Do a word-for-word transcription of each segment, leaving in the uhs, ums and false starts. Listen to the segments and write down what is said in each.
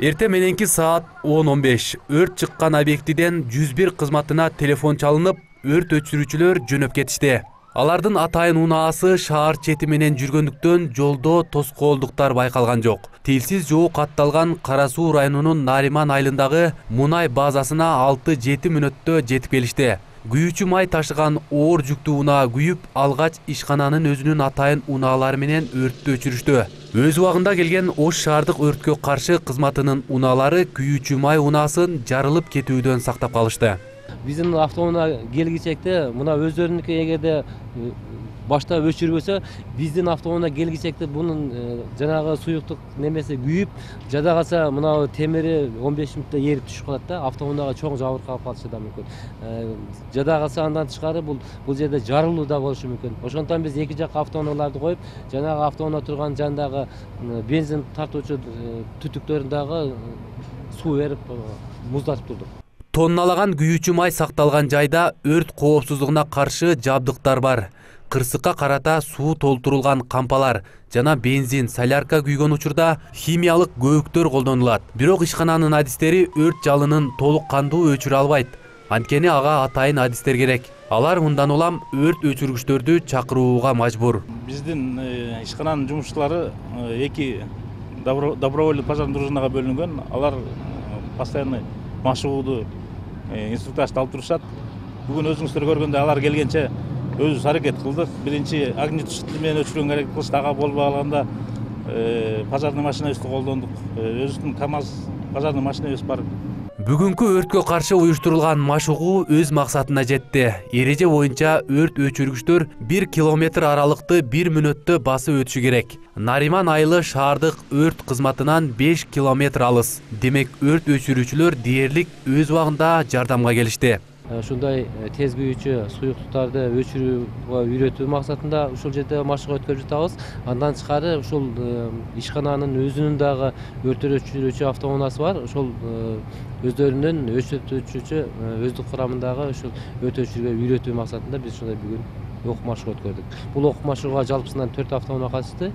Эрте мененки саат он он беш өрт чыккан объектиден жүз бир кызматына телефон чалынып, өрт өчүрүүчүлөр жөнөп кетишти. Алардын атайын унаасы шаар чети менен жүргөндүктөн жолдо тоскоолдуктар байкалган жок. Тилсиз жоо катталган Кара Суу районунун Нариман айылындагы мунай базасына алты жети мүнөттө жетип келишти. Күйүүчү май ташыган оор жүктүү унаа күйүп, алгач ишкананын өзүнүн атайын унаалары менен өрттү өчүрүштү. Өз убагында келген Ош шаардык өрткө каршы кызматынын унаалары күйүүчү май унаасын жарылып кетүүдөн сактап калышты. Биздин автоунаа келгичекте мына өздөрүнүкү эгерде башта өчүрбөсө, биздин автоунаа келгичекте бунун жанагы суюктук немеси күйүп, жада калса мына темири он беш мүнөттө эрип түшүп калат да, автоунаага чоң жабыркап калышы да мүмкүн. Жада калса андан тышкары бул бул жерде жарылуу да болушу мүмкүн. Ошондон биз эки жакка автоунааларды коюп, жанагы автоунаа турган жандагы бензин тартуучу түтүктөрүндагы суу берип муздатып турдук. Тонналаган күйүүчү май сакталган жайда өрт коопсуздугуна каршы жабдыктар бар. Кырсыкка карата суу толтурулган кампалар жана бензин, солярка күйгөн учурда химиялык көөктөр колдонулат. Бирок ишкананын адистери өрт жалынын толук кандуу өчүрө албайт. Анткени ага атайын адистер керек. Алар мындан улам өрт өчүргүчтөрдү чакырууга мажбур. Биздин ишкананын жумушчулары эки добровольный пожарный дружинага бөлүнгөн. Алар постоянно машыгууду инструктажды алып турушат. Бүгүн өзүңүздөр көргөндө алар келгенче өзүбүз аракет кылдык. Биринчи огнетушитель менен өчүргөнгө аракет кылышты. Ага болбой калганда пожарный машинабызды колдондук. Өзүбүздүн КамАЗ пожарный машинабыз бар. Бүгүнкү өрткө каршы уюштурулган машыгуу өз максатына жетти. Эреже боюнча өрт өчүргүчтөр бир километр аралыкты бир мүнөттө басып өтүшү керек. Нариман айылы шаардык өрт кызматынан беш километр алыс. Демек өрт өчүрүүчүлөр дээрлик өз убагында жардамга келишти. Ушундай тез күйүүчү суюктуктарды өчүрүүгө үйрөтүү максатында ушул жерде машыгуу өткөрүп жатабыз. Андан тышкары ушул ишкананын өзүнүн дагы өрт өчүрүүчү автоунаасы бар. Ошол өздөрүнүн өрт өчүрүүчү өздүк курамындагы ушул өрт өчүрүүгө үйрөтүү максатында биз ушундай бүгүн окуу машыгуу өткөрдүк. Бул окуу машыгууга жалпысынан төрт автоунаа катышты.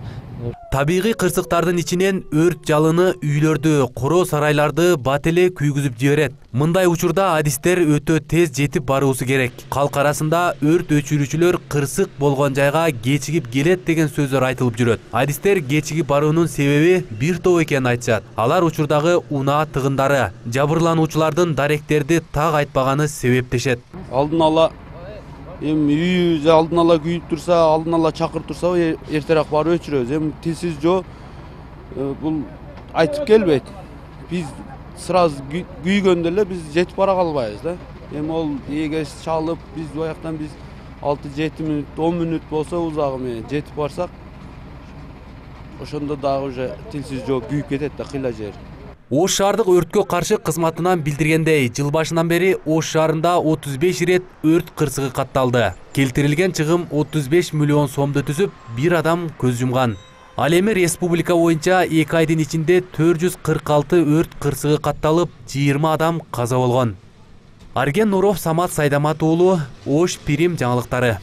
Табигый кырсыктардын ичинен өрт жалыны үйлөрдү, коро сарайларды бат эле күйгүзүп жиберет. Мындай учурда адистер өтө тез жетип баруусу керек. Калк арасында өрт өчүрүүчүлөр кырсык болгон жайга кечигип келет деген сөздөр айтылып жүрөт. Адистер кечигип баруунун себеби бир топ экенин айтышат. Алар учурдагы унаа тыгындары, жабырлануучулардын даректерди так айтпаганы себептешет. Алдын ала эми үйү алдын ала күйүп турса, алдын ала чакырып турса, эртерээк барып өчүрөбүз. Эми тилсиз жоо бул айтып келбейт. Биз сразу күйгөндө эле биз жетип бара калбайбыз да. Эми ол эгер чалып, биз бияктан биз алты жети мүнөт, он мүнөт болсо узагы менен жетип барсак, ошондо дагы уже тилсиз жоо күйүп кетет да кыйла жер. Ош шаардык өрткө каршы кызматынан билдиргендей, жыл башынан бери Ош шаарында отуз беш ирет өрт кырсыгы катталды. Келтирилген чыгым отуз беш миллион сомду түзүп, бир адам көз жумган. Ал эми республика боюнча эки айдын ичинде төрт жүз кырк алты өрт кырсыгы катталып, жыйырма адам каза болгон. Арген Нуров, Самат Сайдамат уулу, Ош Пирим жаңылыктары.